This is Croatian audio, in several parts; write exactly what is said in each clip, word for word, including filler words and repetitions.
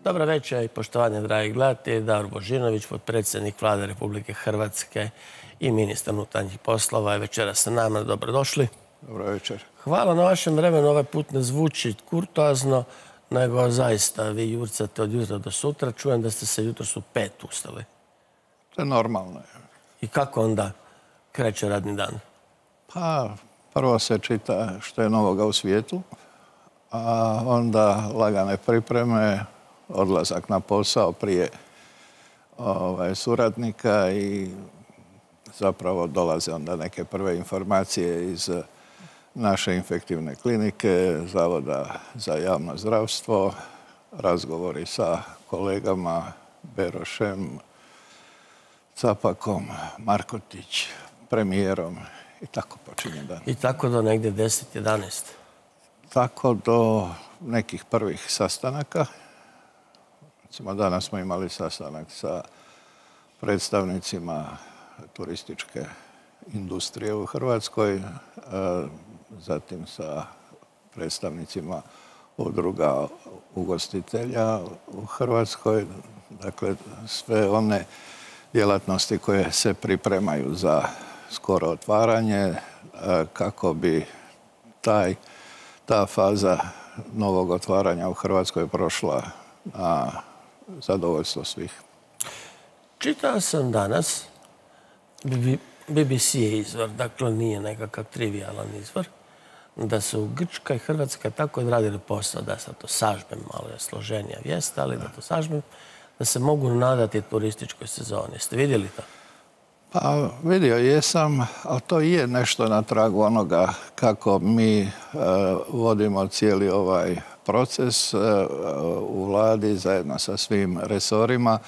Dobro večer i poštovanje, dragi gledatelji. Davor Božinović, potpredsjednik Vlade Republike Hrvatske i ministar unutarnjih poslova je večeras sa nama. Dobrodošli. Dobro večer. Hvala na vašem vremenu. Ovaj put ne zvuči kurtoazno, nego zaista vi jurcate od jutra do sutra. Čujem da ste se jutros u pet ustali. To je normalno. I kako onda kreće radni dan? Pa, prvo se čita što je novoga u svijetu, a onda lagane pripreme, odlazak na posao prije ovaj, suradnika i zapravo dolaze onda neke prve informacije iz naše infektivne klinike, Zavoda za javno zdravstvo, razgovori sa kolegama Berošem, Capakom, Markotić, premijerom i tako počinje dan. I tako do negdje deset jedanaest? Tako do nekih prvih sastanaka. Recimo, danas smo imali sastanak sa predstavnicima turističke industrije u Hrvatskoj, zatim sa predstavnicima udruga ugostitelja u Hrvatskoj. Dakle, sve one djelatnosti koje se pripremaju za skoro otvaranje kako bi taj, ta faza novog otvaranja u Hrvatskoj prošla na zadovoljstvo svih. Čitao sam danas, B B C je izvor, dakle nije nekakav trivialan izvor, da su u Grčka i Hrvatska tako odradili posao, da sad to sažmem, malo je složenija vijest, ali da to sažmem, da se mogu nadati turističkoj sezoni. Ste vidjeli to? Pa vidio jesam, ali to je nešto na tragu onoga kako mi e, vodimo cijeli ovaj proces e, u vladi zajedno sa svim resorima.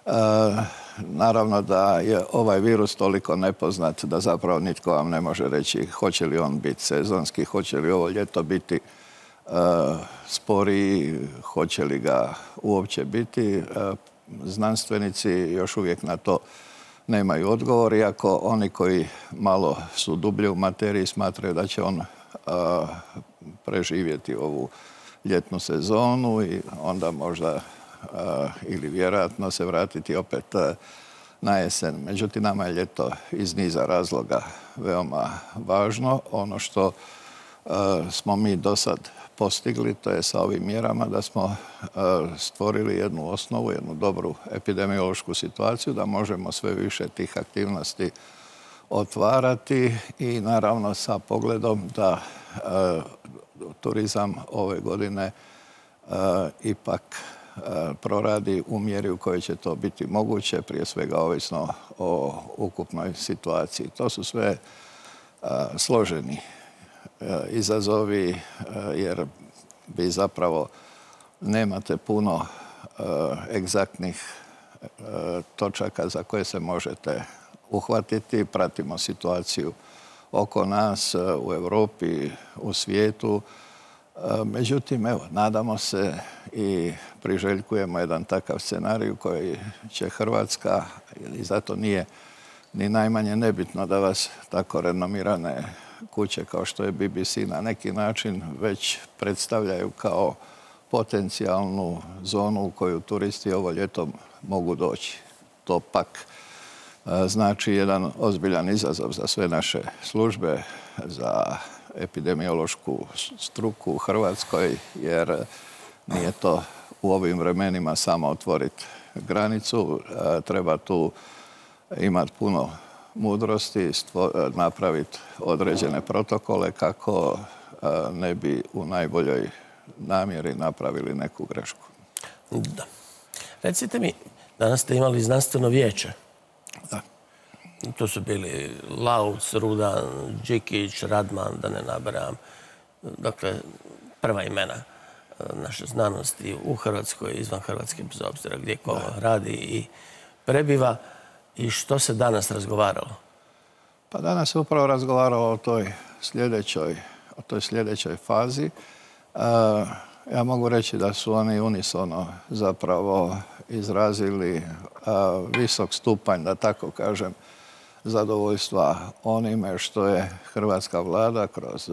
E, naravno da je ovaj virus toliko nepoznat da zapravo nitko vam ne može reći hoće li on biti sezonski, hoće li ovo ljeto biti e, sporiji, hoće li ga uopće biti. E, znanstvenici još uvijek na to nemaju odgovor, iako oni koji malo su dublje u materiji smatraju da će on a, preživjeti ovu ljetnu sezonu i onda možda a, ili vjerojatno se vratiti opet a, na jesen. Međutim, nama je ljeto iz niza razloga veoma važno. Ono što a, smo mi do sad postigli, to je sa ovim mjerama da smo stvorili jednu osnovu, jednu dobru epidemiološku situaciju, da možemo sve više tih aktivnosti otvarati i naravno sa pogledom da turizam ove godine ipak proradi u mjeri u kojoj će to biti moguće, prije svega ovisno o ukupnoj situaciji. To su sve složeni izazovi, jer vi zapravo nemate puno egzaktnih točaka za koje se možete uhvatiti. Pratimo situaciju oko nas, u Europi, u svijetu. Međutim, evo, nadamo se i priželjkujemo jedan takav scenarij u koji će Hrvatska, i zato nije ni najmanje nebitno da vas tako renomirane kuće kao što je B B C na neki način već predstavljaju kao potencijalnu zonu u koju turisti ovo ljeto mogu doći. To pak znači jedan ozbiljan izazov za sve naše službe, za epidemiološku struku u Hrvatskoj, jer nije to u ovim vremenima samo otvoriti granicu. Treba tu imati puno mudrosti, napraviti određene protokole kako ne bi u najboljoj namjeri napravili neku grešku. Da. Recite mi, danas ste imali znanstveno vijeće. Da. Tu su bili Lauc, Rudan, Đikić, Radman, da ne nabrajam. Dakle, prva imena naše znanosti u Hrvatskoj, izvan Hrvatske, bez obzira gdje ko radi i prebiva. I što se danas razgovaralo? Pa danas se upravo razgovaralo o toj sljedećoj, o toj sljedećoj fazi. E, ja mogu reći da su oni unisono zapravo izrazili a, visok stupanj, da tako kažem, zadovoljstva onime što je hrvatska vlada kroz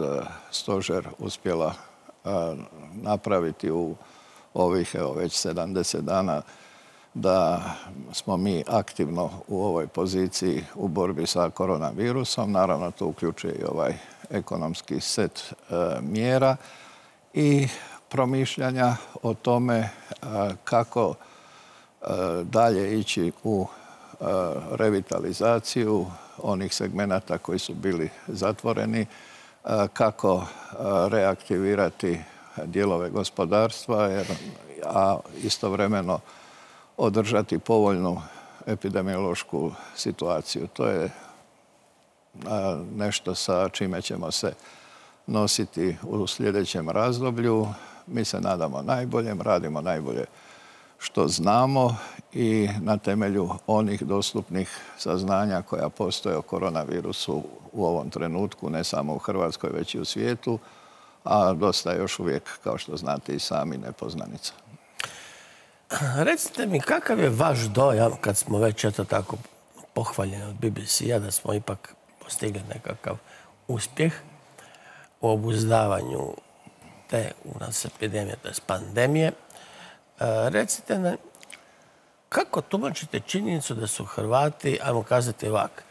stožer uspjela a, napraviti u ovih evo, već sedamdeset dana da smo mi aktivno u ovoj poziciji u borbi sa koronavirusom. Naravno, to uključuje i ovaj ekonomski set e, mjera i promišljanja o tome e, kako e, dalje ići u e, revitalizaciju onih segmenata koji su bili zatvoreni, e, kako e, reaktivirati dijelove gospodarstva, jer, a istovremeno održati povoljnu epidemiološku situaciju. To je nešto sa čime ćemo se nositi u sljedećem razdoblju. Mi se nadamo najboljem, radimo najbolje što znamo i na temelju onih dostupnih saznanja koja postoje o koronavirusu u ovom trenutku, ne samo u Hrvatskoj, već i u svijetu, a dosta je još uvijek, kao što znate i sami, nepoznanica. Recite mi, kakav je vaš dojam, kad smo već eto tako pohvaljeni od B B C-a, da smo ipak postigli nekakav uspjeh u obuzdavanju te u nas epidemije, to je pandemije. E, recite nam, kako tumačite činjenicu da su Hrvati, ajmo kazati ovak,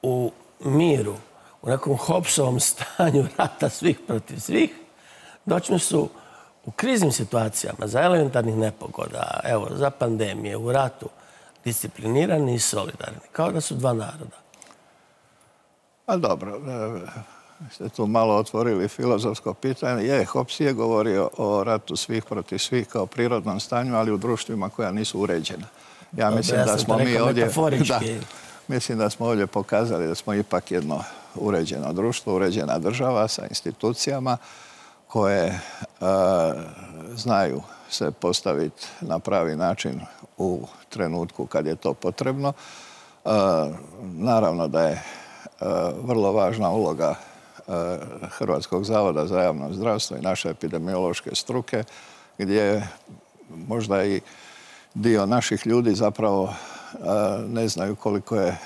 u miru, u nekom Hobbesovom stanju rata svih protiv svih, dočim su u kriznim situacijama, za elementarnih nepogoda, evo, za pandemije, u ratu, disciplinirani i solidarni, kao da su dva naroda. A dobro, ste tu malo otvorili filozofsko pitanje. Je, Hobbes je govorio o ratu svih protiv svih kao prirodnom stanju, ali u društvima koja nisu uređena. Ja Dobre, mislim ja da smo mi ovdje... Da, mislim da smo ovdje pokazali da smo ipak jedno uređeno društvo, uređena država sa institucijama koje e, znaju se postaviti na pravi način u trenutku kad je to potrebno. E, naravno da je e, vrlo važna uloga e, Hrvatskog zavoda za javno zdravstvo i naše epidemiološke struke, gdje možda i dio naših ljudi zapravo e, ne znaju koliko je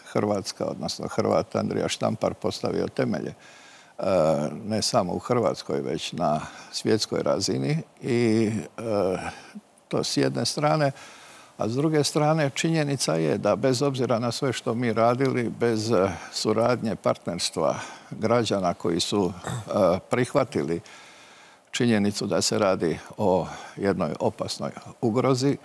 Hrvatska, odnosno Hrvat Andrija Štampar postavio temelje ne samo u Hrvatskoj, već na svjetskoj razini i to s jedne strane, a s druge strane činjenica je da bez obzira na sve što mi radili, bez suradnje partnerstva građana koji su prihvatili činjenicu da se radi o jednoj opasnoj ugrozi,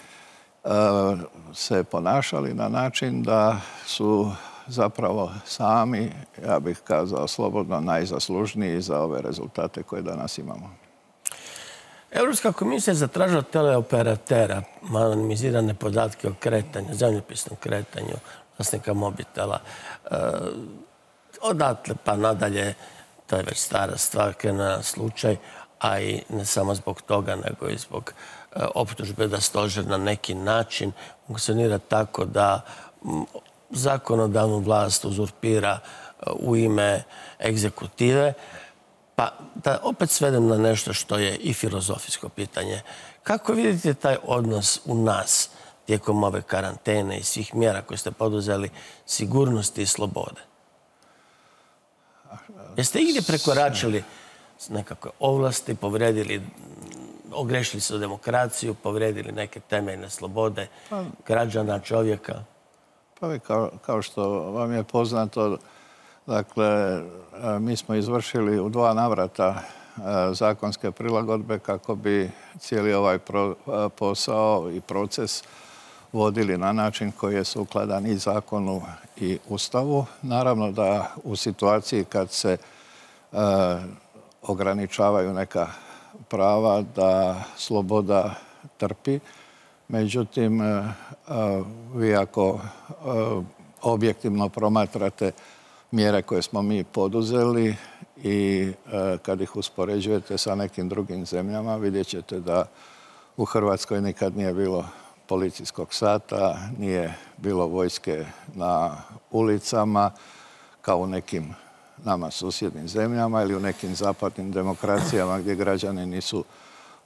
se ponašali na način da su zapravo sami, ja bih kazao slobodno, najzaslužniji za ove rezultate koje danas imamo. Europska komisija je zatražila od teleoperatera anonimizirane podatke o kretanju, zemljopisnom kretanju vlasnika mobitela. E, odatle pa nadalje, to je već stara stvar, krenuo slučaj, a i ne samo zbog toga, nego i zbog e, optužbe da stožer na neki način funkcionira tako da m, zakonodavnu vlast uzurpira u ime egzekutive. Pa da opet svedem na nešto što je i filozofijsko pitanje. Kako vidite taj odnos u nas tijekom ove karantene i svih mjera koje ste poduzeli, sigurnosti i slobode? Jeste igdje prekoračili nekakve ovlasti, povredili, ogrešili se u demokraciju, povredili neke temeljne slobode građana, čovjeka? Pa kao, kao što vam je poznato, dakle, mi smo izvršili u dva navrata zakonske prilagodbe kako bi cijeli ovaj pro, posao i proces vodili na način koji je sukladan i zakonu i Ustavu. Naravno da u situaciji kad se e, ograničavaju neka prava, da sloboda trpi. Međutim, e, vi ako e, objektivno promatrate mjere koje smo mi poduzeli i e, kad ih uspoređujete sa nekim drugim zemljama, vidjet ćete da u Hrvatskoj nikad nije bilo policijskog sata, nije bilo vojske na ulicama kao u nekim nama susjednim zemljama ili u nekim zapadnim demokracijama gdje građani nisu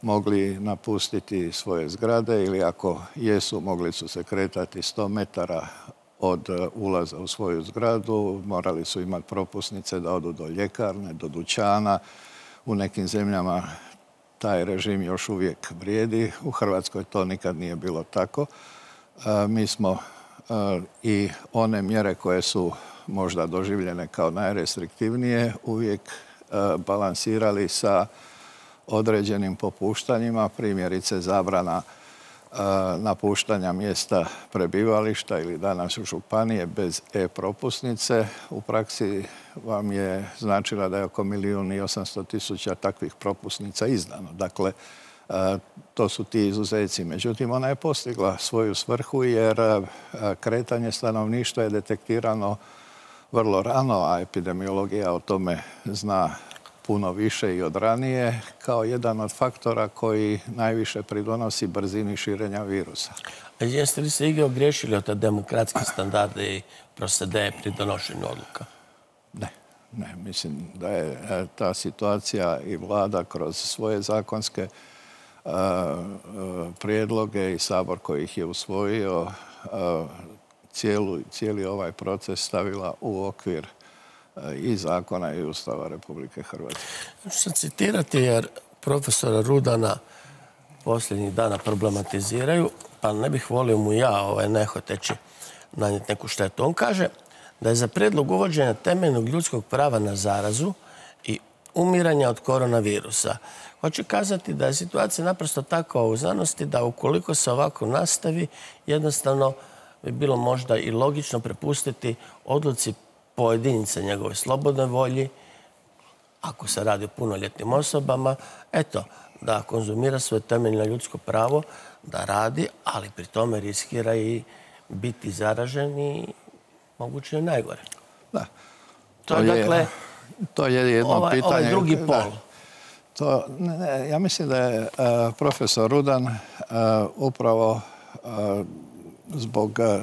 mogli napustiti svoje zgrade ili ako jesu, mogli su se kretati sto metara od ulaza u svoju zgradu, morali su imati propusnice da odu do ljekarne, do dućana. U nekim zemljama taj režim još uvijek vrijedi. U Hrvatskoj to nikad nije bilo tako. Mi smo i one mjere koje su možda doživljene kao najrestriktivnije uvijek balansirali sa određenim popuštanjima, primjerice zabrana napuštanja mjesta prebivališta ili danas u županije bez e-propusnice. U praksi vam je značila da je oko milijun i osamsto tisuća takvih propusnica izdano. Dakle, to su ti izuzeci. Međutim, ona je postigla svoju svrhu jer kretanje stanovništva je detektirano vrlo rano, a epidemiologija o tome zna puno više i od ranije, kao jedan od faktora koji najviše pridonosi brzini širenja virusa. A jeste li se igdje ogriješili od te demokratske standarde i procedeje pri donošenju odluka? Ne, ne. Mislim da je ta situacija i vlada kroz svoje zakonske prijedloge i Sabor koji ih je usvojio cijeli ovaj proces stavila u okvir i zakona i Ustava Republike Hrvatske. Ću se citirati jer profesora Rudana posljednjih dana problematiziraju, pa ne bih volio mu ja ovaj, nehoteći nanijeti neku štetu. On kaže da je za prijedlog uvođenja temeljnog ljudskog prava na zarazu i umiranja od koronavirusa. Hoće kazati da je situacija naprosto takva u znanosti da ukoliko se ovako nastavi, jednostavno bi bilo možda i logično prepustiti odluci pojedinca njegove slobodne volji, ako se radi o punoljetnim osobama, eto, da konzumira svoje temeljno ljudsko pravo, da radi, ali pri tome riskira i biti zaražen i moguće i najgore. Da. To, to je, dakle, to je jedno ovaj, pitanje. Ovaj drugi pol. Da. To, ne, ne, ja mislim da je uh, profesor Rudan uh, upravo uh, zbog uh,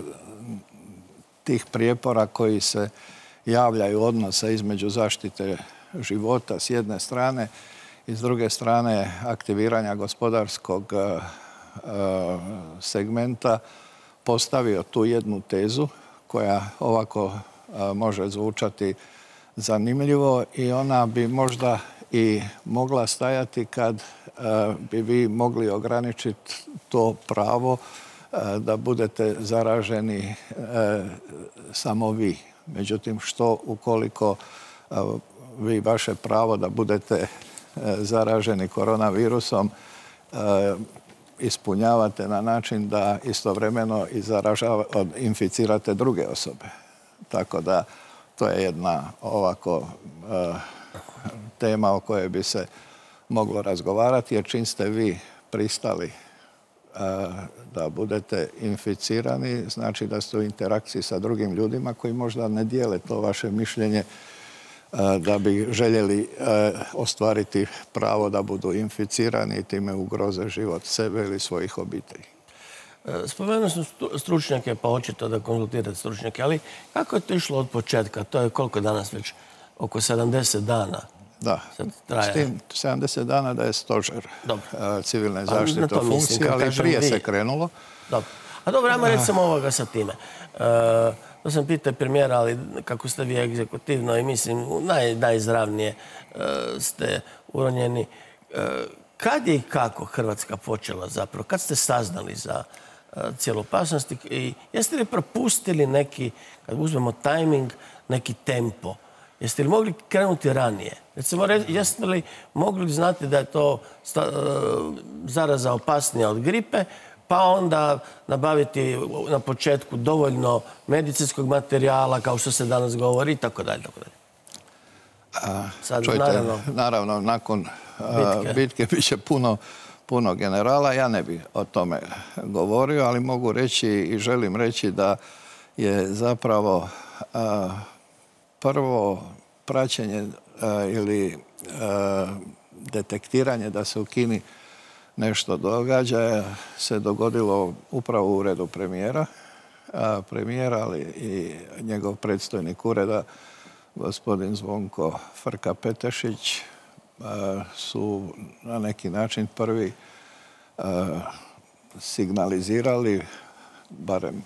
tih prijepora koji se javljaju odnosa između zaštite života s jedne strane i s druge strane aktiviranja gospodarskog uh, segmenta postavio tu jednu tezu koja ovako uh, može zvučati zanimljivo i ona bi možda i mogla stajati kad uh, bi vi mogli ograničiti to pravo uh, da budete zaraženi uh, samo vi. Međutim, što ukoliko uh, vi vaše pravo da budete uh, zaraženi koronavirusom uh, ispunjavate na način da istovremeno i zaražava, inficirate druge osobe. Tako da to je jedna ovako uh, tema o kojoj bi se moglo razgovarati, jer čim ste vi pristali da budete inficirani, znači da ste u interakciji sa drugim ljudima koji možda ne dijele to vaše mišljenje da bi željeli ostvariti pravo da budu inficirani i time ugroze život sebe ili svojih obitelji. Spomenuo sam stručnjake, pa očito da konzultirate stručnjake, ali kako je to išlo od početka? To je koliko danas već? Oko sedamdeset dana. Da, s tim sedamdeset dana da je stožer dobro. civilne zaštite u funkciji, ali prije vi. se krenulo. Dobro. A dobro, ajmo recimo ovoga sa time. E, to sam pitao premijera, ali kako ste vi egzekutivno i mislim naj, najizravnije e, ste uronjeni. E, kad je i kako Hrvatska počela zapravo? Kad ste saznali za e, cijelu opasnost? I jeste li propustili neki, kad uzmemo tajming, neki tempo? Jeste li mogli krenuti ranije? Recimo, jeste li mogli znati da je to zaraza opasnija od gripe, pa onda nabaviti na početku dovoljno medicinskog materijala, kao što se danas govori, i tako dalje. Sad, čujte, naravno, naravno, nakon bitke, bitke bit će puno, puno generala. Ja ne bih o tome govorio, ali mogu reći i želim reći da je zapravo a, prvo praćenje a, ili a, detektiranje da se u Kini nešto događa se dogodilo upravo u uredu premijera. A, premijera, ali i njegov predstojnik ureda, gospodin Zvonko Frka-Petešić, a, su na neki način prvi a, signalizirali, barem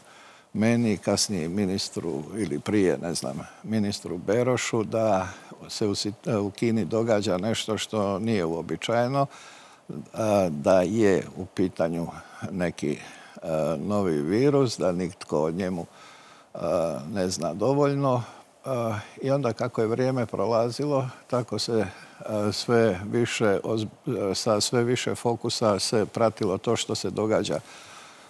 meni, kasnije ministru ili prije, ne znam, ministru Berošu, da se u, u Kini događa nešto što nije uobičajeno, da je u pitanju neki novi virus, da nitko o njemu ne zna dovoljno. I onda kako je vrijeme prolazilo, tako se sve više, sa sve više fokusa se pratilo to što se događa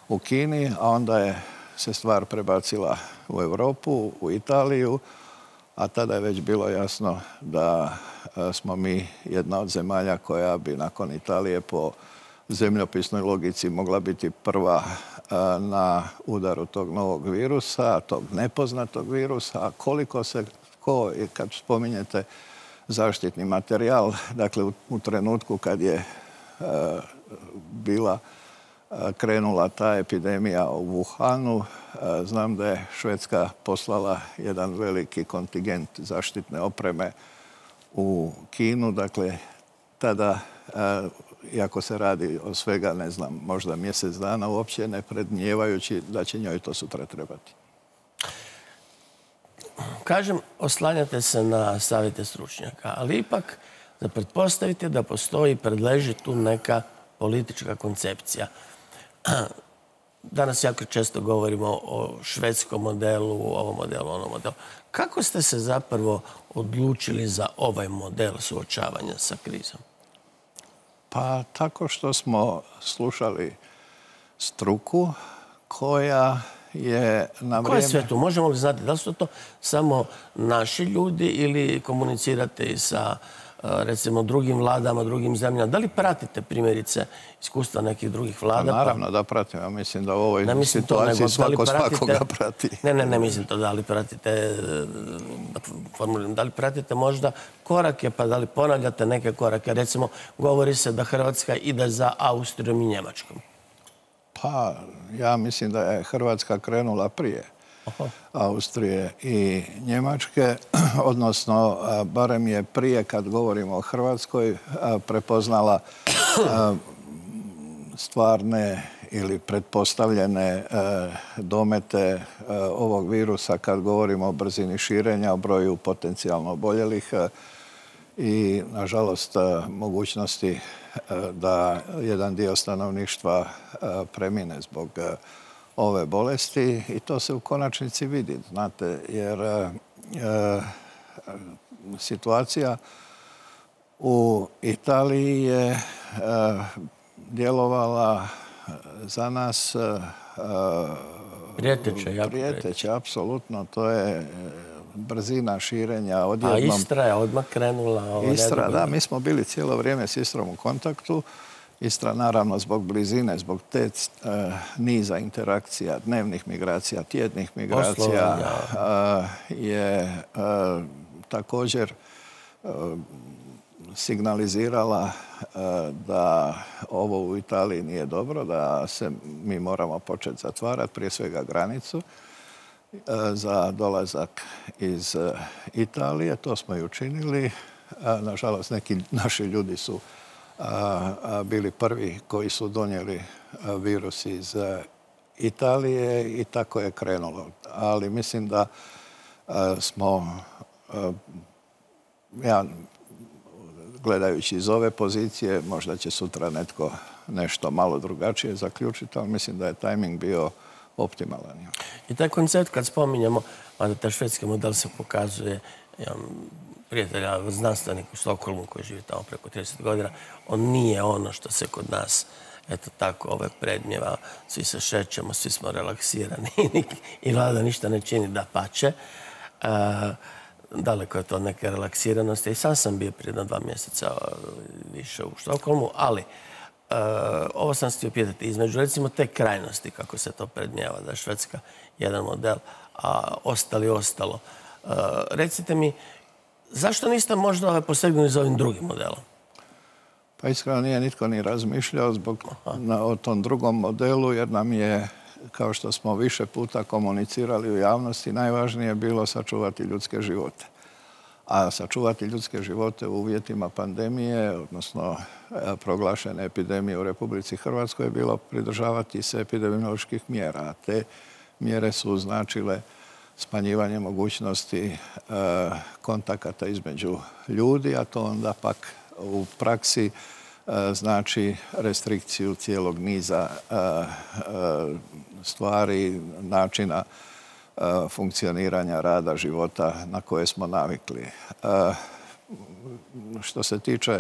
u Kini, a onda je se stvar prebacila u Europu, u Italiju, a tada je već bilo jasno da smo mi jedna od zemalja koja bi nakon Italije po zemljopisnoj logici mogla biti prva na udaru tog novog virusa, tog nepoznatog virusa. A koliko se, ko, kad spominjete zaštitni materijal, dakle u, u trenutku kad je uh, bila uh, krenula ta epidemija u Wuhanu, uh, znam da je Švedska poslala jedan veliki kontingent zaštitne opreme u Kinu, dakle tada uh, iako se radi o svega, ne znam, možda mjesec dana, uopće ne predmnijevajući da će njoj to sutra trebati. Kažem, oslanjate se na savjete stručnjaka, ali ipak da pretpostavite da postoji, predleži tu neka politička koncepcija. Danas jako često govorimo o švedskom modelu, ovom modelu, onom modelu. Kako ste se zapravo odlučili za ovaj model suočavanja sa krizom? Pa tako što smo slušali struku koja je na vrijeme... Ko je sve tu? Možemo li znati da li su to samo naši ljudi ili komunicirate i sa recimo drugim vladama, drugim zemljama? Da li pratite primjerice iskustva nekih drugih vlada? Pa naravno da pratim. Ja mislim da u ovoj ne situaciji to, svako pratite, svakoga prati. Ne, ne, ne mislim to da li pratite, da formuliram, da li pratite možda korake, pa da li ponavljate neke korake. Recimo, govori se da Hrvatska ide za Austrijom i Njemačkom. Pa, ja mislim da je Hrvatska krenula prije Aha. Austrije i Njemačke, odnosno barem je prije, kad govorimo o Hrvatskoj, prepoznala stvarne ili pretpostavljene domete ovog virusa kad govorimo o brzini širenja, o broju potencijalno oboljelih i, nažalost, mogućnosti da jedan dio stanovništva premine zbog ove bolesti i to se u konačnici vidi, znate, jer e, situacija u Italiji je e, djelovala za nas e, prijeteće, jako prijeteće, apsolutno, to je brzina širenja odjednom. A Istra je odmah krenula? Istra, da, mi smo bili cijelo vrijeme s Istrom u kontaktu. Istra, naravno, zbog blizine, zbog te e, niza interakcija, dnevnih migracija, tjednih migracija, e, je e, također e, signalizirala e, da ovo u Italiji nije dobro, da se mi moramo početi zatvarati, prije svega granicu, e, za dolazak iz e, Italije. To smo i učinili. E, nažalost, neki naši ljudi su A, bili prvi koji su donijeli virus iz Italije i tako je krenulo. Ali mislim da a, smo, a, ja gledajući iz ove pozicije, možda će sutra netko nešto malo drugačije zaključiti, ali mislim da je tajming bio optimalan. I taj koncept kad spominjamo, mada taj švedski model se pokazuje, ja, prijatelja, znanstvenik u Stokholmu koji živi tamo preko trideset godina, on nije ono što se kod nas, eto tako, ove predmjeva, svi se šećemo, svi smo relaksirani i vlada ništa ne čini, da pače. E, daleko je to neke relaksiranosti. I sam sam bio prije dva mjeseca više u Stokholmu, ali e, ovo sam htio pitati, između recimo te krajnosti, kako se to predmjeva, da je Švedska jedan model, a ostali ostalo. E, recite mi, zašto niste možda posegnuli za ovim drugim modelom? Pa iskreno nije nitko ni razmišljao zbog na, o tom drugom modelu, jer nam je, kao što smo više puta komunicirali u javnosti, najvažnije bilo sačuvati ljudske živote. A sačuvati ljudske živote u uvjetima pandemije, odnosno proglašene epidemije u Republici Hrvatskoj, je bilo pridržavati se epidemioloških mjera. A te mjere su značile smanjivanje mogućnosti e, kontakata između ljudi, a to onda pak u praksi znači restrikciju cijelog niza stvari, načina funkcioniranja rada, života na koje smo navikli. Što se tiče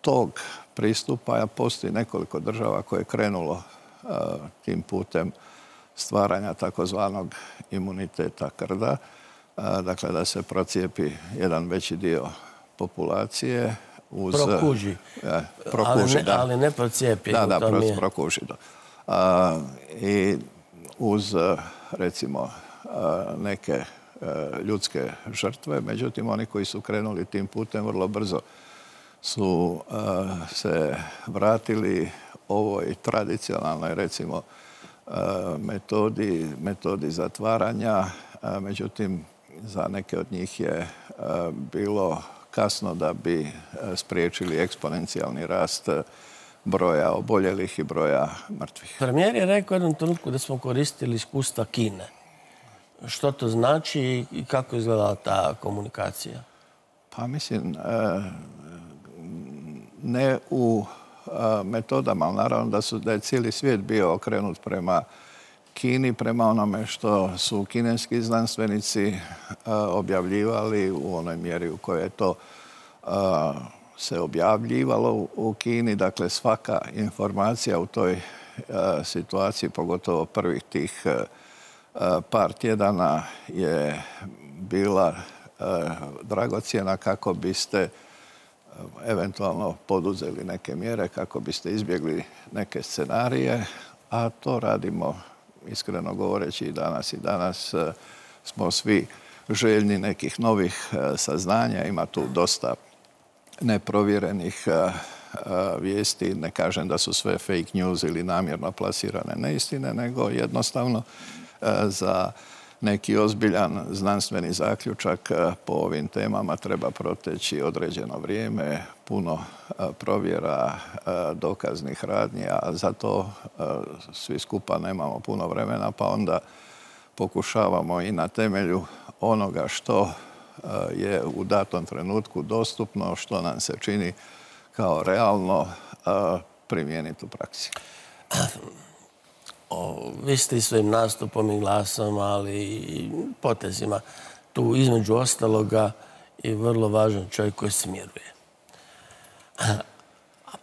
tog pristupa, postoji nekoliko država koje je krenulo tim putem stvaranja takozvanog imuniteta krda, dakle da se procijepi jedan veći dio populacije uz... Prokuži. Ja, prokuži, ali ne, da. Ali ne procijepi. Da, da, pro, je... prokuži, da. A, I uz, recimo, neke ljudske žrtve, međutim, oni koji su krenuli tim putem vrlo brzo su se vratili ovoj tradicionalnoj, recimo, metodi, metodi zatvaranja. Međutim, za neke od njih je bilo kasno da bi spriječili eksponencijalni rast broja oboljelih i broja mrtvih. Premijer je rekao u jednom trenutku da smo koristili iskustva Kine. Što to znači i kako je izgledala ta komunikacija? Pa mislim, ne u metodama, ali naravno da, su, da je cijeli svijet bio okrenut prema Kini, prema onome što su kineski znanstvenici objavljivali u onoj mjeri u kojoj je to se objavljivalo u Kini. Dakle, svaka informacija u toj situaciji, pogotovo prvih tih par tjedana, je bila dragocjena kako biste eventualno poduzeli neke mjere, kako biste izbjegli neke scenarije, a to radimo, iskreno govoreći, i danas. I danas smo svi željni nekih novih saznanja. Ima tu dosta neprovjerenih vijesti. Ne kažem da su sve fake news ili namjerno plasirane neistine, nego jednostavno za neki ozbiljan znanstveni zaključak po ovim temama treba proteći određeno vrijeme, puno provjera, dokaznih radnji, a za to svi skupa nemamo puno vremena, pa onda pokušavamo i na temelju onoga što je u datom trenutku dostupno, što nam se čini kao realno, primijeniti u praksi. O, vi ste i svojim nastupom i glasom, ali i potezima tu između ostaloga i vrlo važan čovjek koji smiruje.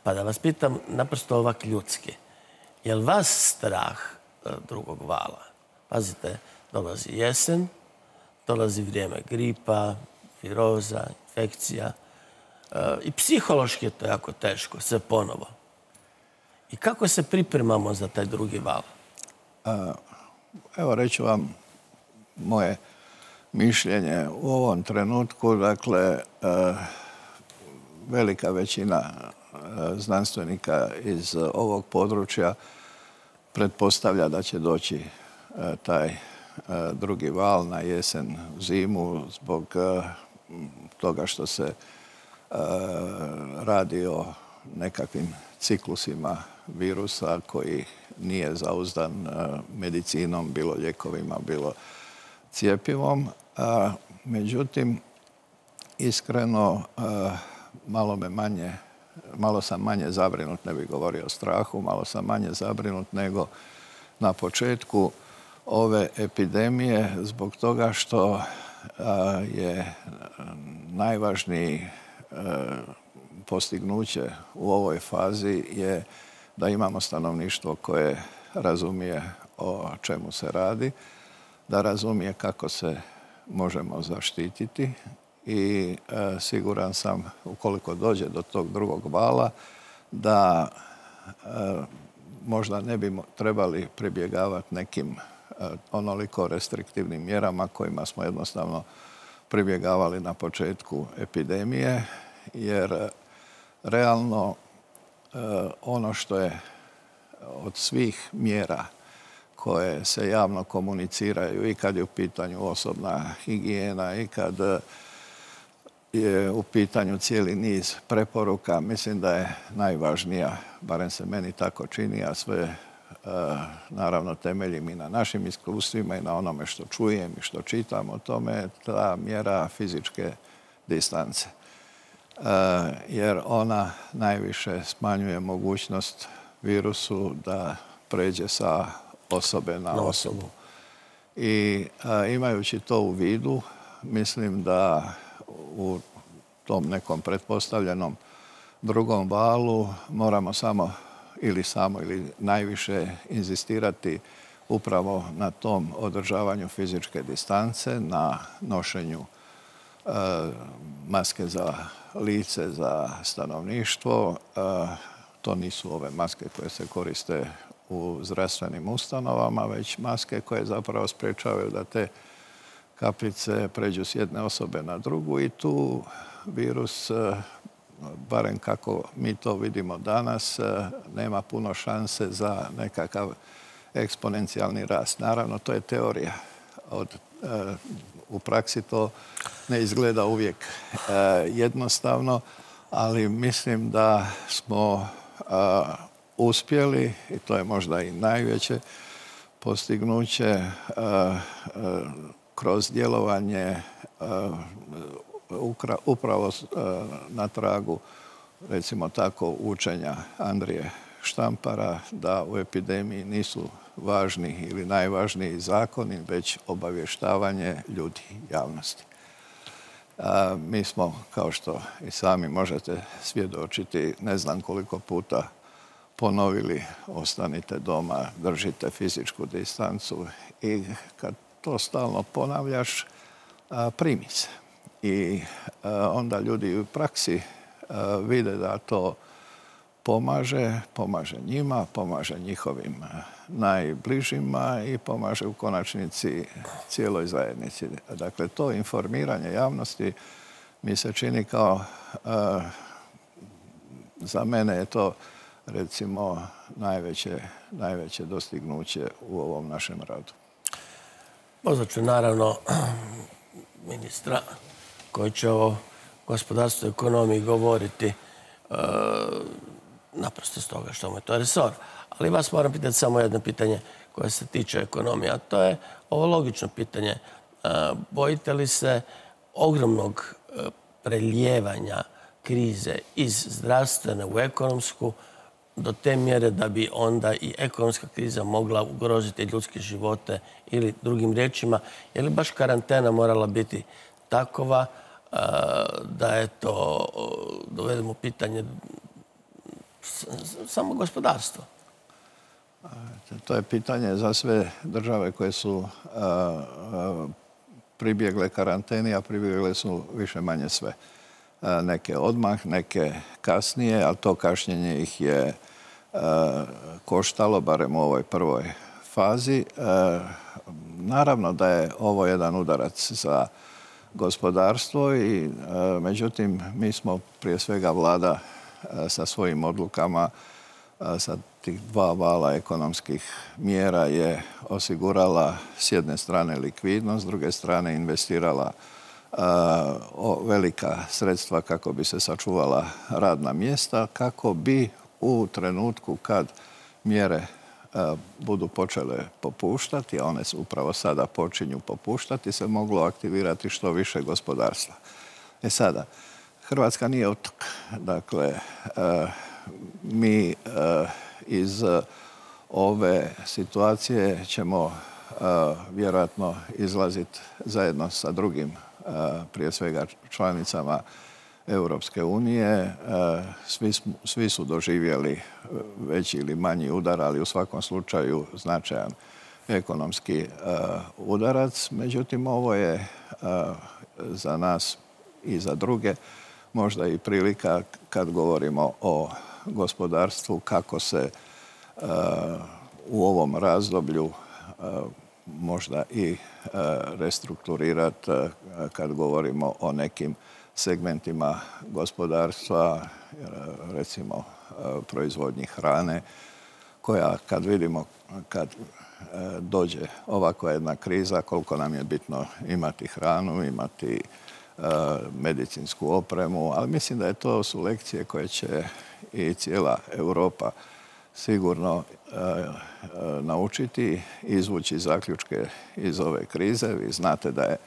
Pa da vas pitam, naprosto ovak ljudski, je li vas strah drugog vala? Pazite, dolazi jesen, dolazi vrijeme gripa, viroza, infekcija i psihološki je to jako teško, sve ponovo. I kako se pripremamo za taj drugi val? Evo, reću vam moje mišljenje u ovom trenutku. Dakle, velika većina znanstvenika iz ovog područja pretpostavlja da će doći taj drugi val na jesen, zimu, zbog toga što se radi o nekakvim ciklusima virusa koji nije zauzdan medicinom, bilo lijekovima, bilo cjepivom. Međutim, iskreno, malo me manje, malo sam manje zabrinut, ne bih govorio o strahu, malo sam manje zabrinut nego na početku ove epidemije, zbog toga što je najvažniji postignuće u ovoj fazi je da imamo stanovništvo koje razumije o čemu se radi, da razumije kako se možemo zaštititi i e, siguran sam, ukoliko dođe do tog drugog vala, da e, možda ne bi trebali pribjegavati nekim e, onoliko restriktivnim mjerama kojima smo jednostavno pribjegavali na početku epidemije, jer realno ono što je od svih mjera koje se javno komuniciraju i kad je u pitanju osobna higijena i kad je u pitanju cijeli niz preporuka, mislim da je najvažnija, barem se meni tako čini, a sve naravno temeljim i na našim iskustvima i na onome što čujem i što čitam o tome, ta mjera fizičke distance. jer ona najviše smanjuje mogućnost virusu da pređe sa osobe na osobu. I imajući to u vidu, mislim da u tom nekom pretpostavljenom drugom valu moramo samo ili samo ili najviše inzistirati upravo na tom održavanju fizičke distance, na nošenju e, maske za lice, za stanovništvo. E, to nisu ove maske koje se koriste u zdravstvenim ustanovama, već maske koje zapravo sprječavaju da te kapljice pređu s jedne osobe na drugu i tu virus, barem kako mi to vidimo danas, nema puno šanse za nekakav eksponencijalni rast. Naravno, to je teorija. Od, u praksi to ne izgleda uvijek jednostavno, ali mislim da smo uspjeli, i to je možda i najveće postignuće, kroz djelovanje upravo na tragu, recimo tako, učenja Andrije Štampara, da u epidemiji nisu važni ili najvažniji zakoni, već obavještavanje ljudi, javnosti. A, mi smo, kao što i sami možete svjedočiti, ne znam koliko puta ponovili: ostanite doma, držite fizičku distancu, i kad to stalno ponavljaš, a, primi se. I a, onda ljudi u praksi a, vide da to pomaže, pomaže njima, pomaže njihovim najbližima i pomaže u konačnici cijeloj zajednici. Dakle, to informiranje javnosti mi se čini kao, a, za mene je to, recimo, najveće, najveće dostignuće u ovom našem radu. Pozvat ću naravno ministra koji će o gospodarstvu i ekonomiji govoriti, e, naprosto s toga što mu je to resor. Ali vas moram pitati samo jedno pitanje koje se tiče ekonomije, a to je ovo logično pitanje. E, bojite li se ogromnog prelijevanja krize iz zdravstvene u ekonomsku, do te mjere da bi onda i ekonomska kriza mogla ugroziti ljudske živote, ili drugim riječima, je li baš karantena morala biti takova da je to, dovedemo pitanje samo gospodarstvo? To je pitanje za sve države koje su pribjegle karanteni, a pribjegle su više manje sve. Neke odmah, neke kasnije, ali to kašnjenje ih je koštalo, barem u ovoj prvoj fazi. Naravno da je ovo jedan udarac za gospodarstvo, i međutim mi smo prije svega vlada sa svojim odlukama, sa tih dva vala ekonomskih mjera je osigurala s jedne strane likvidnost, s druge strane investirala o velika sredstva kako bi se sačuvala radna mjesta, kako bi u trenutku kad mjere budu počele popuštati, a one su upravo sada počinju popuštati, se moglo aktivirati što više gospodarstva. E sada, Hrvatska nije otok. Dakle, mi iz ove situacije ćemo vjerojatno izlaziti zajedno sa drugim, prije svega članicama Europske unije. Svi, svi su doživjeli veći ili manji udar, ali u svakom slučaju značajan ekonomski udarac. Međutim, ovo je za nas i za druge možda i prilika, kad govorimo o gospodarstvu, kako se u ovom razdoblju možda i restrukturirati kad govorimo o nekim segmentima gospodarstva, recimo proizvodnji hrane, koja, kad vidimo, kad dođe ovakva jedna kriza, koliko nam je bitno imati hranu, imati medicinsku opremu, ali mislim da je to su lekcije koje će i cijela Europa sigurno naučiti, izvući zaključke iz ove krize. Vi znate da je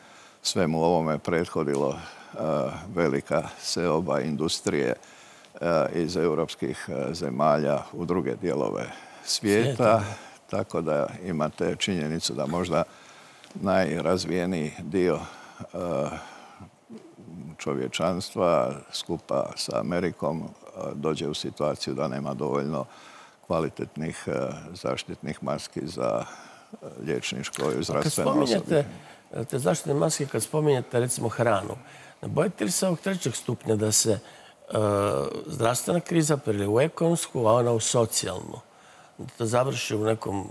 svemu ovome prethodilo velika seoba industrije iz europskih zemalja u druge dijelove svijeta. Tako da imate činjenicu da možda najrazvijeniji dio čovječanstva skupa sa Amerikom dođe u situaciju da nema dovoljno kvalitetnih zaštitnih maski za liječničko i zdravstveno osoblje. Kad spominjete te zaštitne maske, kad spominjete recimo hranu, ne bojite li se ovog trećeg stupnja da se zdravstvena kriza prelije u ekonomsku, a ona u socijalnu? Da to završi u nekom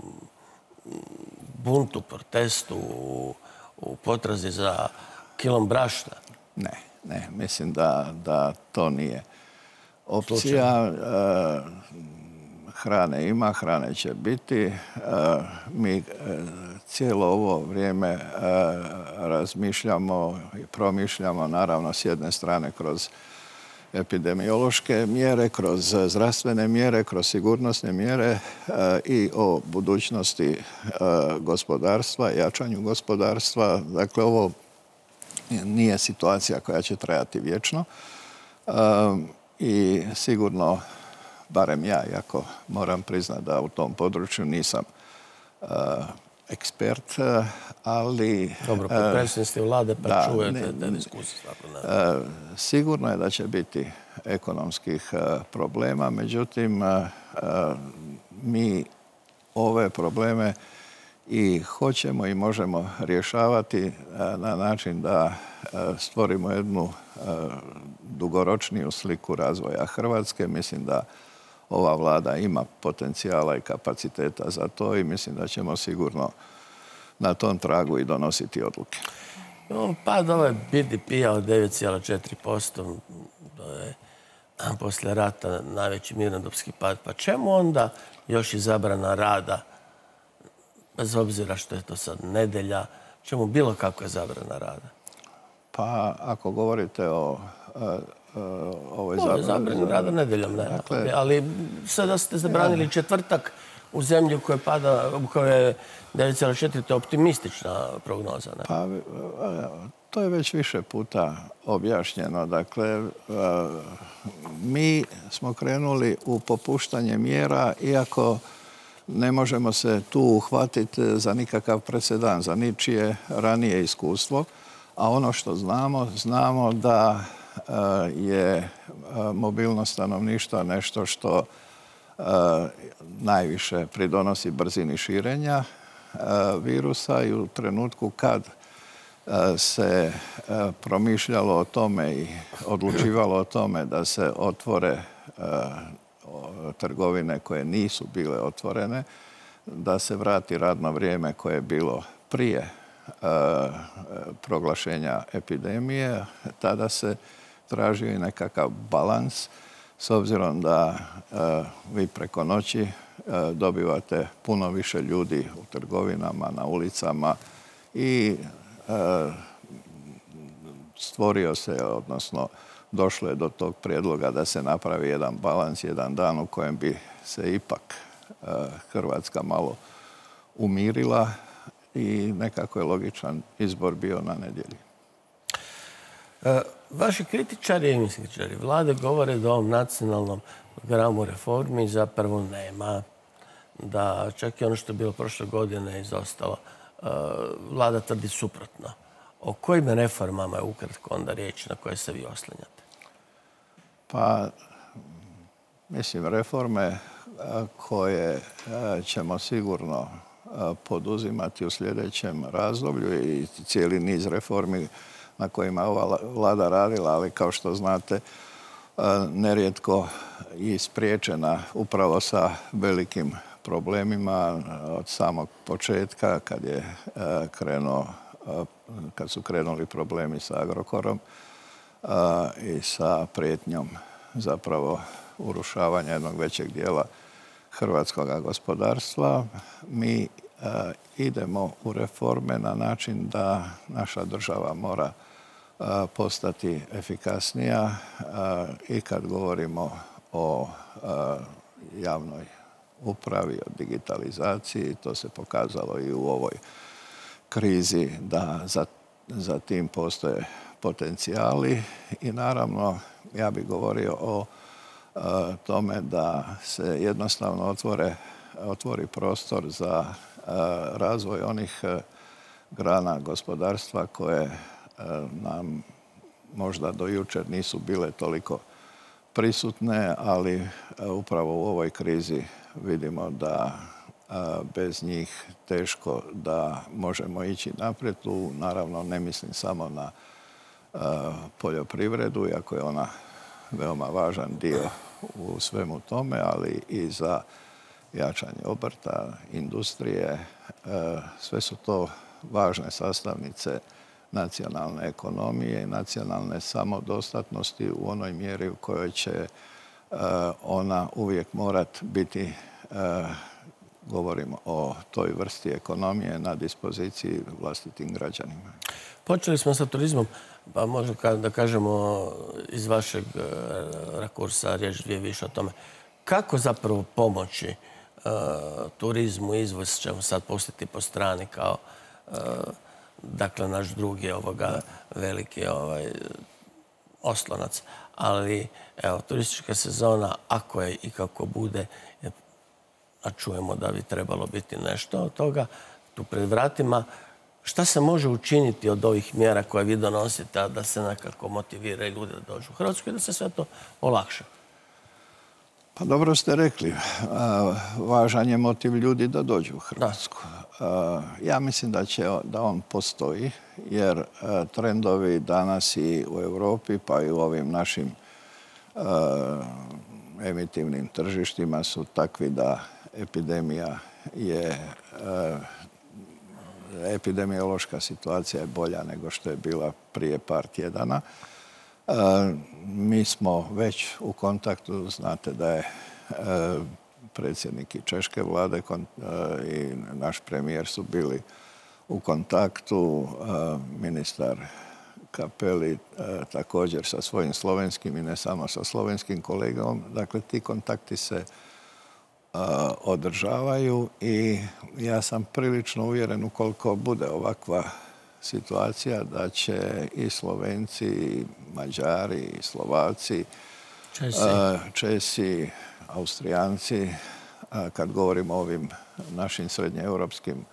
buntu, protestu, u potrazi za kilom brašna? Ne, ne. Mislim da, da to nije opcija. Hrane ima, hrane će biti. Mi cijelo ovo vrijeme razmišljamo i promišljamo, naravno, s jedne strane kroz epidemiološke mjere, kroz zdravstvene mjere, kroz sigurnosne mjere i o budućnosti gospodarstva, jačanju gospodarstva. Dakle, ovo nije situacija koja će trajati vječno i sigurno, barem ja, iako moram priznati da u tom području nisam ekspert, ali... Dobro, potpredsjednik ste vlade pa da, čujete te diskusije. Sigurno je da će biti ekonomskih problema, međutim, mi ove probleme i hoćemo i možemo rješavati na način da stvorimo jednu dugoročniju sliku razvoja Hrvatske. Mislim da ova vlada ima potencijala i kapaciteta za to i mislim da ćemo sigurno na tom tragu i donositi odluke. Pad ovaj B D P-a od devet zarez četiri posto, to je poslije rata najveći mirnodopski pad. Pa čemu onda još i zabrana rada, bez obzira što je to sad nedelja, čemu bilo kakva zabrana rada? Pa ako govorite o ovoj zabrani... Zabrani rada nedeljom, ne. Dakle, ali sada ste zabranili četvrtak u zemlji u kojoj pada, u kojoj je devet zarez četiri, to je optimistična prognoza, ne? Pa, to je već više puta objašnjeno. Dakle, mi smo krenuli u popuštanje mjera, iako ne možemo se tu uhvatiti za nikakav presedan, za ničije ranije iskustvo. A ono što znamo, znamo da je mobilnost stanovništva nešto što najviše pridonosi brzini širenja virusa i u trenutku kad se promišljalo o tome i odlučivalo o tome da se otvore trgovine koje nisu bile otvorene, da se vrati radno vrijeme koje je bilo prije proglašenja epidemije, tada se tražio i nekakav balans, s obzirom da vi preko noći dobivate puno više ljudi u trgovinama, na ulicama i stvorio se, odnosno došlo je do tog prijedloga da se napravi jedan balans, jedan dan u kojem bi se ipak Hrvatska malo umirila i nekako je logičan izbor bio na nedjelji. Vaši kritičari i kritičari vlade govore da ovom nacionalnom programu reformi zapravo nema. Da čak i ono što je bilo prošle godine izostalo. Vlada tvrdi suprotno. O kojim reformama je ukratko onda riječ na koje se vi oslanjate? Pa, mislim, reforme koje ćemo sigurno poduzimati u sljedećem razdoblju i cijeli niz reformi na kojima je ova vlada radila, ali kao što znate, nerijetko i spriječena upravo sa velikim problemima od samog početka kad je krenuo, kad su krenuli problemi sa Agrokorom i sa prijetnjom zapravo urušavanja jednog većeg dijela hrvatskog gospodarstva. Mi idemo u reforme na način da naša država mora postati efikasnija i kad govorimo o javnoj upravi, o digitalizaciji, to se pokazalo i u ovoj krizi da za za tim postoje potencijali i naravno ja bih govorio o e, tome da se jednostavno otvore, otvori prostor za e, razvoj onih e, grana gospodarstva koje e, nam možda do jučer nisu bile toliko prisutne, ali e, upravo u ovoj krizi vidimo da e, bez njih teško da možemo ići naprijed. Tu naravno ne mislim samo na e, poljoprivredu, iako je ona veoma važan dio u svemu tome, ali i za jačanje obrta, industrije. E, sve su to važne sastavnice nacionalne ekonomije i nacionalne samodostatnosti u onoj mjeri u kojoj će e, ona uvijek morat biti, e, govorimo o toj vrsti ekonomije, na dispoziciji vlastitim građanima. Počeli smo sa turizmom, pa možda da kažemo iz vašeg rakursa riječ dvije više o tome. Kako zapravo pomoći uh, turizmu, izvoz ćemo sad pustiti po strani kao uh, dakle naš drugi ovoga veliki ovaj, oslonac. Ali evo, turistička sezona, ako je i kako bude, a čujemo da bi trebalo biti nešto od toga, tu pred vratima, šta se može učiniti od ovih mjera koje vi donosite da se nekako motiviraju ljude da dođu u Hrvatsku i da se sve to olakša? Pa dobro ste rekli. Važan je motiv ljudi da dođu u Hrvatsku. Da. Ja mislim da, će, da on postoji, jer trendovi danas i u Europi, pa i u ovim našim emitivnim tržištima su takvi da epidemija je epidemiološka situacija je bolja nego što je bila prije par tjedana. E, mi smo već u kontaktu, znate da je e, predsjednik i češke vlade kon, e, i naš premijer su bili u kontaktu, e, ministar Capelli e, također sa svojim slovenskim i ne samo sa slovenskim kolegom. Dakle, ti kontakti se održavaju i ja sam prilično uvjeren ukoliko bude ovakva situacija da će i Slovenci, i Mađari, i Slovaci, Česi, Česi Austrijanci, kad govorimo o ovim našim srednjeeuropskim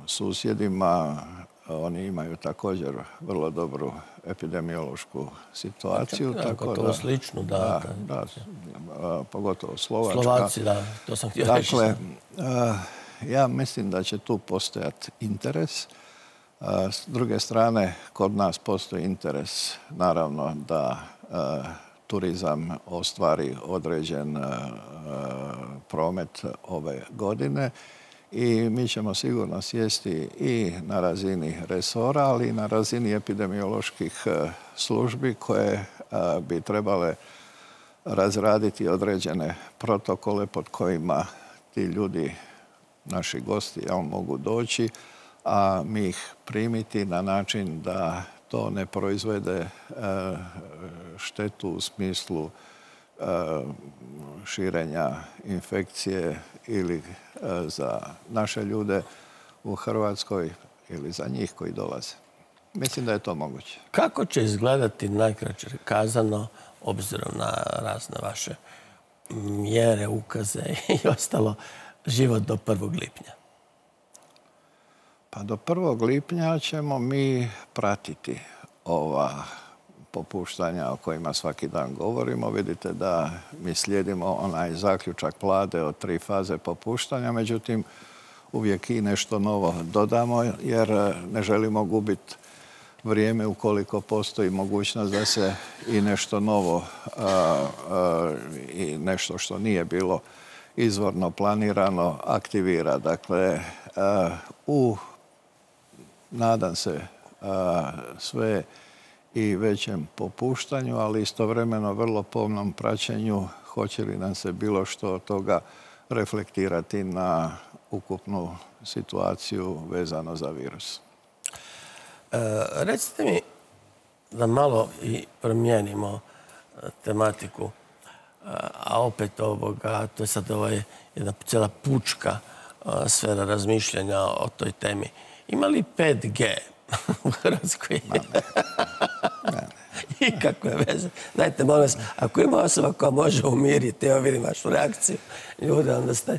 susjedima, oni imaju također vrlo dobru epidemiološku situaciju. Da, tako da, sličnu, da. Da, da, da, pogotovo Slovačka. Slovaci, da, to sam htio reći. Dakle, ja mislim da će tu postojati interes. S druge strane, kod nas postoji interes, naravno, da turizam ostvari određen promet ove godine. I mi ćemo sigurno sjesti i na razini resora, ali i na razini epidemioloških službi koje bi trebale razraditi određene protokole pod kojima ti ljudi, naši gosti, jel, mogu doći, a mi ih primiti na način da to ne proizvede štetu u smislu širenja infekcije ili za naše ljude u Hrvatskoj ili za njih koji dolaze. Mislim da je to moguće. Kako će izgledati, najkraće kazano, obzirom na razne vaše mjere, ukaze i ostalo, život do prvog lipnja? Pa do prvog lipnja ćemo mi pratiti ova popuštanja o kojima svaki dan govorimo. Vidite da mi slijedimo onaj zaključak vlade od tri faze popuštanja, međutim uvijek i nešto novo dodamo jer ne želimo gubiti vrijeme ukoliko postoji mogućnost da se i nešto novo a, a, i nešto što nije bilo izvorno planirano aktivira. Dakle, a, u nadam se a, sve i većem popuštanju, ali istovremeno vrlo pomnom praćenju hoće li nam se bilo što od toga reflektirati na ukupnu situaciju vezano za virus. E, recite mi da malo i promijenimo tematiku, a opet ovoga, to je sad ovaj, jedna cijela pučka sfera razmišljanja o toj temi. Ima li pet G u Hrvatskoj? Ne, ne. I kakve veze. Dajte, molim vas, ako ima osoba koja može umiriti, evo vidim vašu reakciju, ljude, onda ste...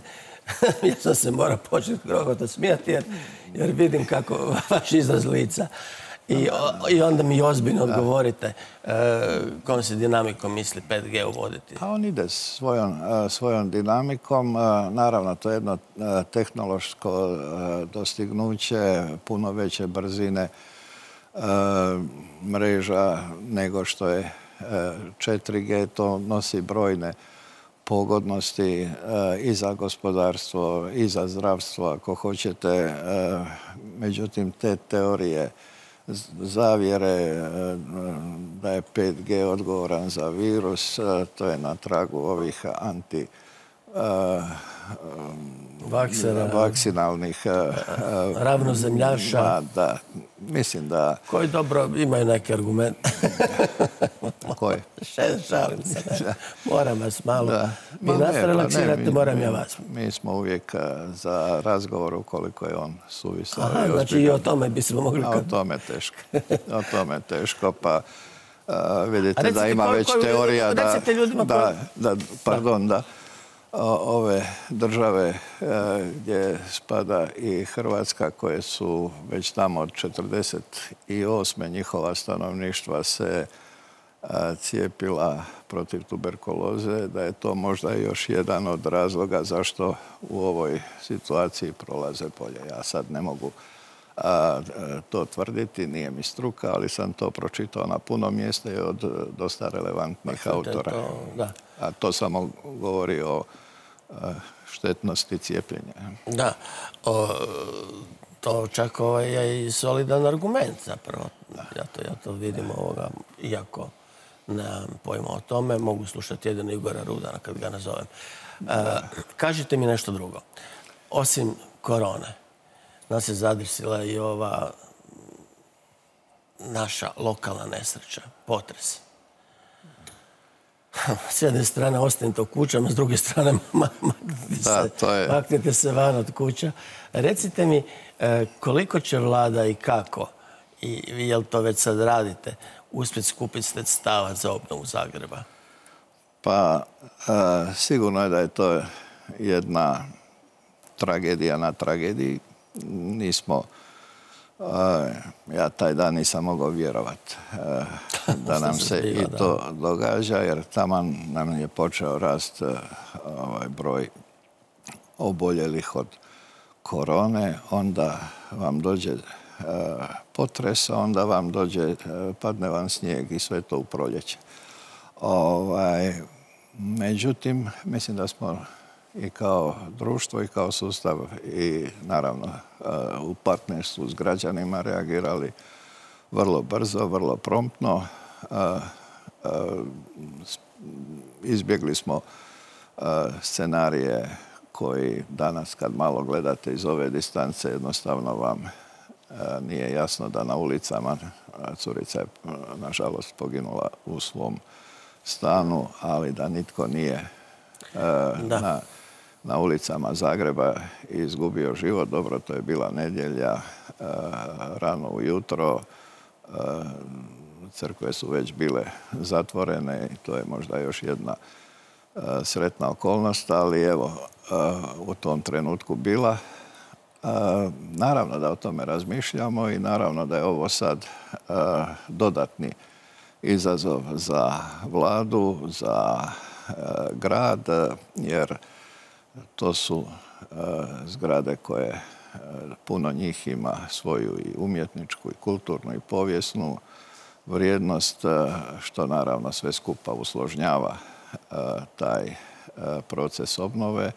Ja sam se morao početi grogoto smijati jer, jer vidim kako vaš izraz lica. I, I onda mi ozbiljno odgovorite e, kojom se dinamikom misli pet G uvoditi. A on ide svojom, svojom dinamikom. Naravno, to je jedno tehnološko dostignuće, puno veće brzine mreža nego što je četiri G. To nosi brojne pogodnosti i za gospodarstvo, i za zdravstvo, ako hoćete. Međutim, te teorije zavjere da je pet G odgovoran za virus, to je na tragu ovih anti Vaksera, vakcinalnih ravnozemljaša. Da, mislim da... Koji dobro imaju neki argument. Koji? Šalim se. Moram vas malo. Vi Ma nas ne, pa relaksirate, ne, mi- moram mi- ja vas. Mi smo uvijek a, za razgovor ukoliko je on suvisao. Aha, i znači i ozbiljan. o tome bismo mogli... A o tome teško. O tome teško, pa a, vidite A recite da ima koju- već koju- teorija da, recite ljudima da, koju- da, pardon, da o, ove države a, gdje spada i Hrvatska, koje su već tamo od četrdeset osme njihova stanovništva se a, cijepila protiv tuberkuloze, da je to možda još jedan od razloga zašto u ovoj situaciji prolaze bolje. Ja sad ne mogu a, to tvrditi, nije mi struka, ali sam to pročitao na puno mjesta i od dosta relevantnih autora. To, da. A to samo govori o a, štetnosti cijepljenja. Da. O, to čak ovaj je i solidan argument zapravo. Ja to, ja to vidim ovoga, iako nemam pojma o tome, mogu slušati jedino Igora Rudana kad ga nazovem. E, kažite mi nešto drugo. Osim korone, nas je zadesila i ova naša lokalna nesreća, potres. S jedne strane ostanite u kućama, s druge strane maknite se, Da, to je- maknite se van od kuća. Recite mi e, koliko će vlada i kako, i vi jel to već sad radite, uspjeti skupiti sredstava za obnovu Zagreba? Pa a, sigurno je da je to jedna tragedija na tragediji. Nismo, a, ja taj dan nisam mogao vjerovati a, da nam se zbiva, i da. to događa, jer taman nam je počeo rast a, ovaj broj oboljelih od korone, onda vam dođe a, potres, a onda vam dođe, a, padne vam snijeg i sve to u proljeće. Ovaj, međutim, mislim da smo i kao društvo i kao sustav i naravno u partnerstvu s građanima reagirali vrlo brzo, vrlo promptno. Izbjegli smo scenarije koji danas kad malo gledate iz ove distance jednostavno vam nije jasno da na ulicama, curica je nažalost poginula u svom stanu, ali da nitko nije Da. na, na ulicama Zagreba izgubio život. Dobro, to je bila nedjelja, rano ujutro, crkve su već bile zatvorene i to je možda još jedna sretna okolnost, ali evo, u tom trenutku bila. Naravno da o tome razmišljamo i naravno da je ovo sad dodatni izazov za vladu, za grad, jer to su zgrade koje puno njih ima svoju i umjetničku i kulturnu i povijesnu vrijednost, što naravno sve skupa usložnjava taj proces obnove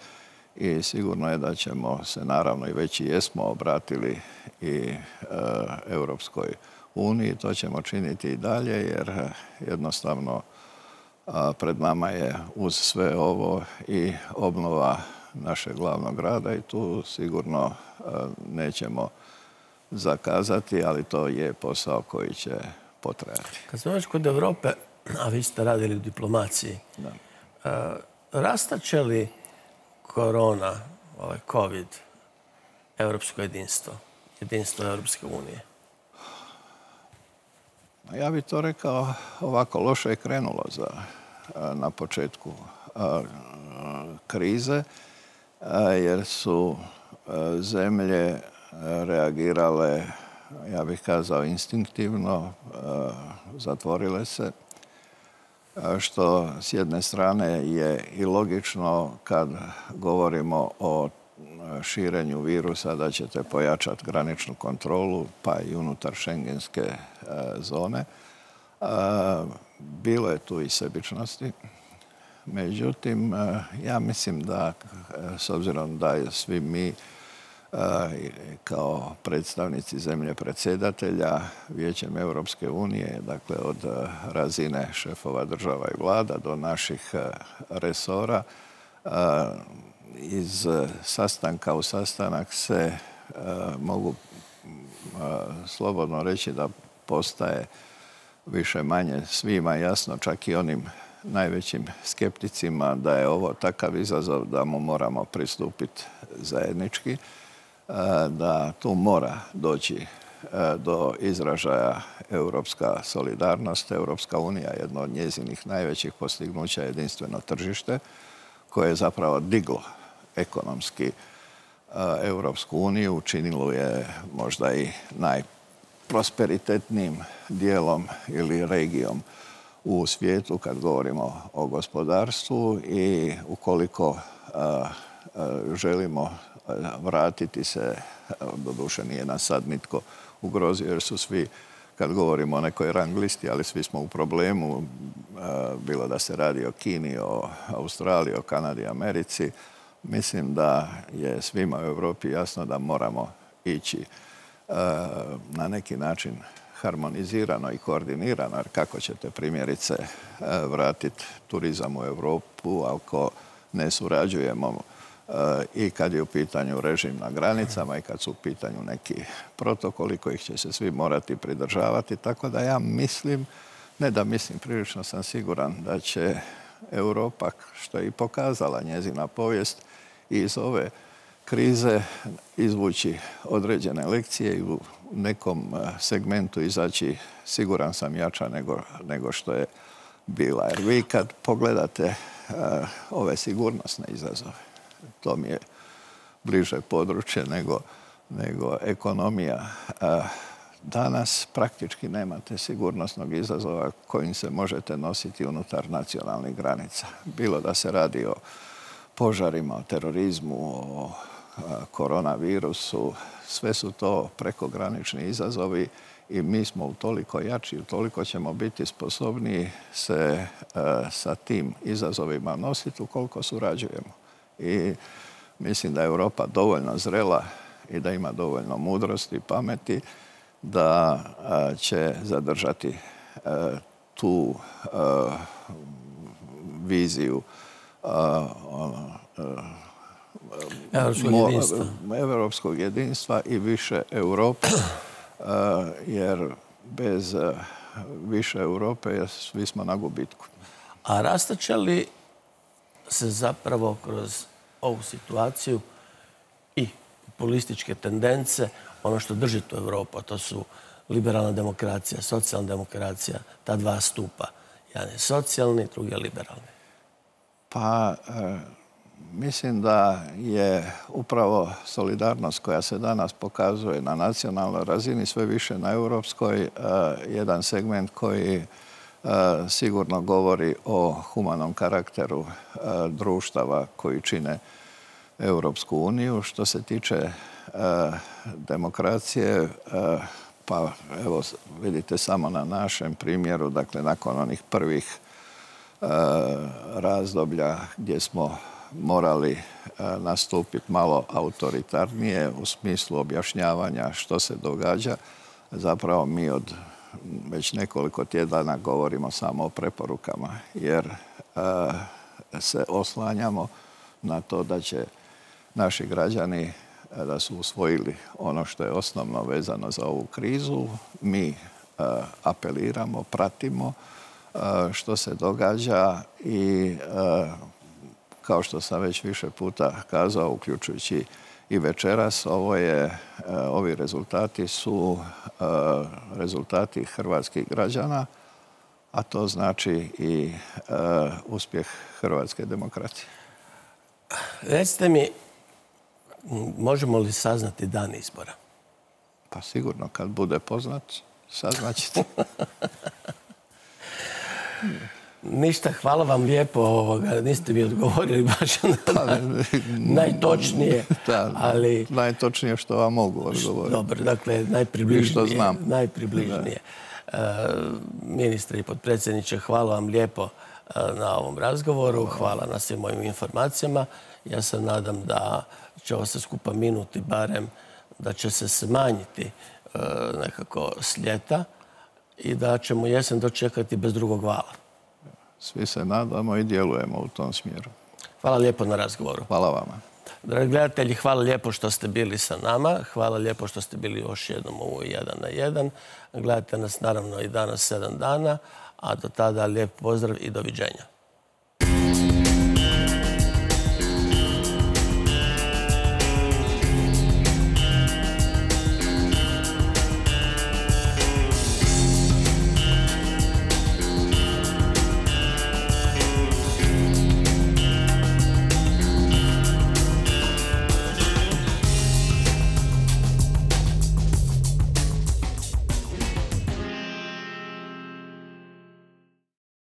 i sigurno je da ćemo se naravno i već i jesmo obratili i Europskoj uniji. To ćemo činiti i dalje jer jednostavno pred nama je uz sve ovo i obnova našeg glavnog grada i tu sigurno nećemo zakazati, ali to je posao koji će potrajati. Kad smo već kod Europe, a vi ste radili u diplomaciji, Da. rastače li korona, ovaj COVID, europsko jedinstvo? jedinstva Europske unije? Ja bih to rekao ovako, loše je krenulo za, na početku krize, jer su zemlje reagirale, ja bih kazao, instinktivno, zatvorile se, što s jedne strane je i logično kad govorimo o širenju virusa, da ćete pojačati graničnu kontrolu, pa i unutar šengenske zone. Bilo je tu i sebičnosti. Međutim, ja mislim da, s obzirom da svi mi kao predstavnici zemlje predsjedatelja Vijećem Europske unije, dakle od razine šefova država i vlada do naših resora, iz sastanka u sastanak se mogu slobodno reći da postaje više manje svima jasno, čak i onim najvećim skepticima, da je ovo takav izazov da mu moramo pristupiti zajednički, da tu mora doći do izražaja europska solidarnost. Europska unija je jedno od njezinih najvećih postignuća, jedinstveno tržište, koje je zapravo diglo ekonomski Europsku uniju, učinilo je možda i najprosperitetnijim dijelom ili regijom u svijetu kad govorimo o gospodarstvu, i ukoliko želimo vratiti se, doduše nije nas sad nitko ugrozio jer su svi, kad govorimo o nekoj rang listi, ali svi smo u problemu, bilo da se radi o Kini, o Australiji, o Kanadi, Americi. Mislim da je svima u Europi jasno da moramo ići na neki način harmonizirano i koordinirano, jer kako ćete primjerice vratiti turizam u Europu ako ne surađujemo i kad je u pitanju režim na granicama i kad su u pitanju neki protokoli kojih će se svi morati pridržavati. Tako da ja mislim, ne da mislim, prilično sam siguran da će Europa, što je i pokazala njezina povijest, iz ove krize izvući određene lekcije i u nekom segmentu izaći, siguran sam, jača nego, nego što je bila. Jer vi kad pogledate uh, ove sigurnosne izazove, to mi je bliže područje nego, nego ekonomija. Uh, danas praktički nemate sigurnosnog izazova kojim se možete nositi unutar nacionalnih granica. Bilo da se radi o požarima, o terorizmu, o koronavirusu, sve su to prekogranični izazovi i mi smo utoliko jači, utoliko ćemo biti sposobniji se uh, sa tim izazovima nositi ukoliko surađujemo. I mislim da je Europa dovoljno zrela i da ima dovoljno mudrosti i pameti da uh, će zadržati uh, tu uh, viziju uh, uh, Europskog jedinstva. Europskog jedinstva i više Europe, jer bez više Europe svi smo na gubitku. A rastače li se zapravo kroz ovu situaciju i populističke tendence, ono što drži tu Europu, to su liberalna demokracija, socijalna demokracija, ta dva stupa. Jedan je socijalni, drugi je liberalni. Pa mislim da je upravo solidarnost koja se danas pokazuje na nacionalnoj razini, sve više na europskoj, jedan segment koji sigurno govori o humanom karakteru društava koji čine Europsku uniju. Što se tiče demokracije, pa evo vidite samo na našem primjeru, dakle nakon onih prvih razdoblja gdje smo morali nastupiti malo autoritarnije u smislu objašnjavanja što se događa. Zapravo mi od već nekoliko tjedana govorimo samo o preporukama, jer se oslanjamo na to da će naši građani, da su usvojili ono što je osnovno vezano za ovu krizu. Mi apeliramo, pratimo što se događa i kao što sam već više puta kazao, uključujući i večeras. Ovo je, ovi rezultati su rezultati hrvatskih građana, a to znači i uspjeh hrvatske demokracije. Recite mi, možemo li saznati dan izbora? Pa sigurno, kad bude poznat, saznaćete. Ništa, hvala vam lijepo. Ovoga. Niste mi odgovorili baš na najtočnije. Da, ali... najtočnije što vam mogu odgovoriti. Dobro, dakle, najpribližnije. I što znam. Najpribližnije. E, ministre i potpredsjedniče, hvala vam lijepo na ovom razgovoru. Hvala na svim mojim informacijama. Ja se nadam da će ovo se skupa minuti barem, da će se smanjiti e, nekako s ljeta i da ćemo jesen dočekati bez drugog vala. Svi se nadamo i djelujemo u tom smjeru. Hvala lijepo na razgovoru. Hvala vama. Dragi gledatelji, hvala lijepo što ste bili sa nama. Hvala lijepo što ste bili još jednom u jedan na jedan. Gledajte nas naravno i danas sedam dana, a do tada lijep pozdrav i doviđenja.